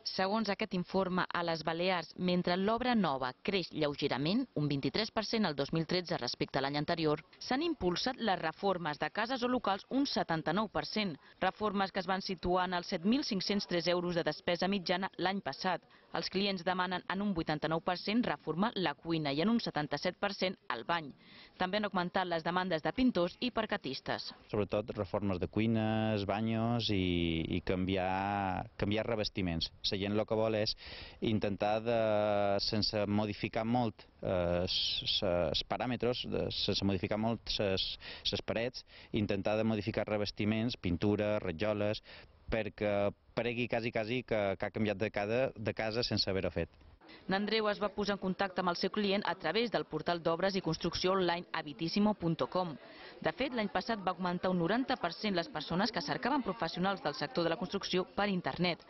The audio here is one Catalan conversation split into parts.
Segons aquest informe, a les Balears, mentre l'obra nova creix lleugerament, un 23% el 2013 respecte a l'any anterior, s'han impulsat les reformes de cases o locals un 79%, reformes que es van situar en els 7.503 euros de despesa mitjana l'any passat. Els clients demanen en un 89% reformar la cuina i en un 77% el bany. També han augmentat les demandes de pintors i parquetistes. Sobretot reformes de cuines, banyos i canviar revestiments. La gent el que vol és intentar, sense modificar molt els paràmetres, sense modificar molt les parets, intentar de modificar revestiments, pintures, rajoles, perquè paregui quasi que ha canviat de casa sense haver-ho fet. N'Andreu es va posar en contacte amb el seu client a través del portal d'obres i construcció online habitissimo.com. De fet, l'any passat va augmentar un 90% les persones que cercaven professionals del sector de la construcció per internet.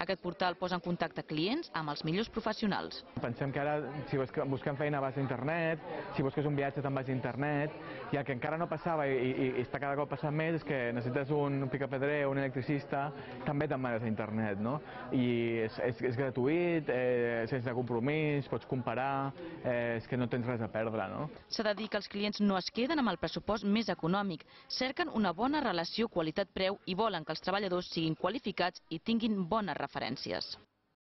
Aquest portal posa en contacte clients amb els millors professionals. Pensem que ara, si busquem feina vas a internet, si busques un viatge te'n vas a internet, i el que encara no passava i està cada cop passant més és que necessites un picapedrer o un electricista, també te'n vas a internet, no? I és gratuït, sense compromís, pots comparar, és que no tens res a perdre, no? S'ha de dir que els clients no es queden amb el pressupost més econòmic, cerquen una bona relació qualitat-preu i volen que els treballadors siguin qualificats i tinguin bones referències.